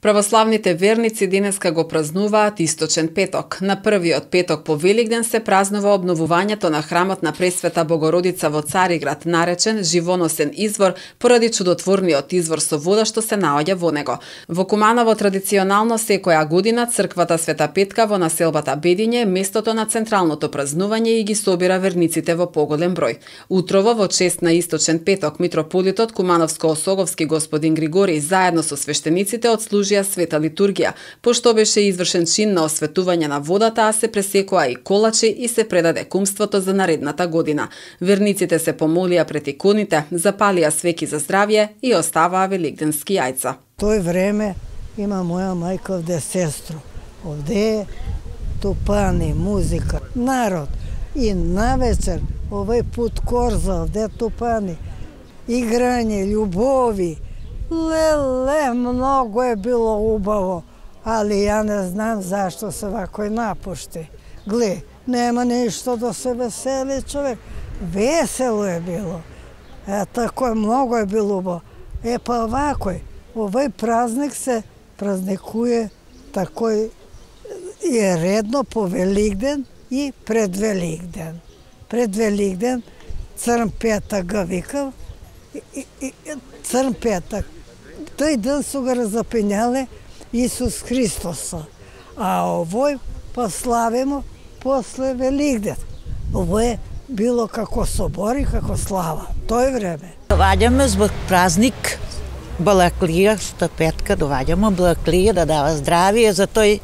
Православните верници денеска го празнуваат Источен петок. На првиот петок по Великден се празнува обновувањето на храмот на Пресвета Богородица во Цариград, наречен Живоносен извор, поради чудотворниот извор со вода што се наоѓа во него. Во Куманово традиционално секоја година црквата Света Петка во населбата Бедиње е местото на централното празнување и ги собира верниците во поголем број. Утрово во чест на Источен петок митрополитот Кумановско-Осоговски господин Григорий заедно со свештениците отслужија света литургија, пошто беше извршен чин на осветување на водата, а се пресекоа и колачи и се предаде кумството за наредната година. Верниците се помолија пред иконите, запалија свеки за здравје и оставаа великденски јајца. Тој време има моја мајка овде сестро. Овде е тупани, музика, народ. И навечер овој пут корза, овде тупани, играње, љубови. Леле, многу е било убаво, али ја не знам зашто се вакој напушти. Гле, нема ништо да се весели човек. Весело е било. Тако е, многу е било убаво. Па вакој, овој празник се празникуе такој е редно по Великден и пред Великден. Пред Великден Црн петак го викав, Црн петак. Тој ден су го разапенјале Исус Христоса, а овој пославимо после Великден. Ово е било како собори, како слава, тој време. Доваѓаме због празник Балаклија, што петка доваѓаме Балаклија да дава здравие, за тој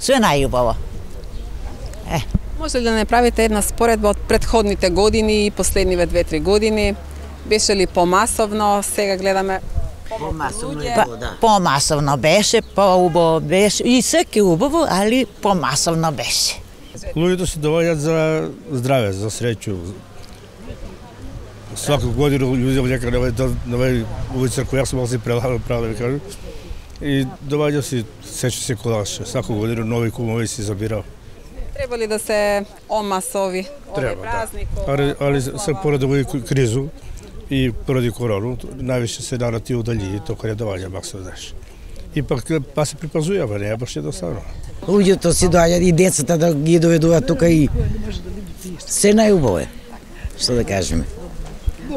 све најубаво. Може ли да не правите една споредба од претходните години и последниве 2-3 години? Беше ли помасовно? Сега гледаме Помасовно беше, поубаво беше, и секи убаво, али помасовно беше. Луѓето се доваѓаат за здраве, за среќу. Свака година луѓе некаде на овој улица која се може правилно да кажам. И доваѓа се сече се колаш, свака година нови кумови се забираа. Треба ли да се омасови овој празник? Али се поради овој кризу и поради корону, највише се нарати удали, тоа каде доваѓа максо знаеш. И пак па се припазујава, не е баш едноставно. Луѓето си доаѓаат и децата да ги доведуваат тука и се најубаво е, што да кажеме.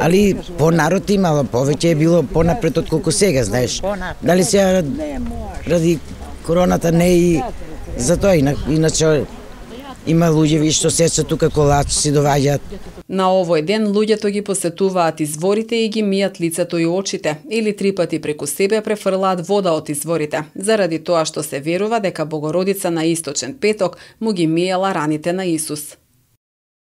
Али по народ имало, повеќе е било понапред од колку сега, знаеш. Дали сега ради короната не и за тоа, иначе има луѓе што сечат тука колачи си доваѓаат. На овој ден луѓето ги посетуваат изворите и ги мијат лицето и очите, или 3 пати преку себе префрлаат вода од изворите, заради тоа што се верува дека Богородица на Источен петок му ги миела раните на Исус.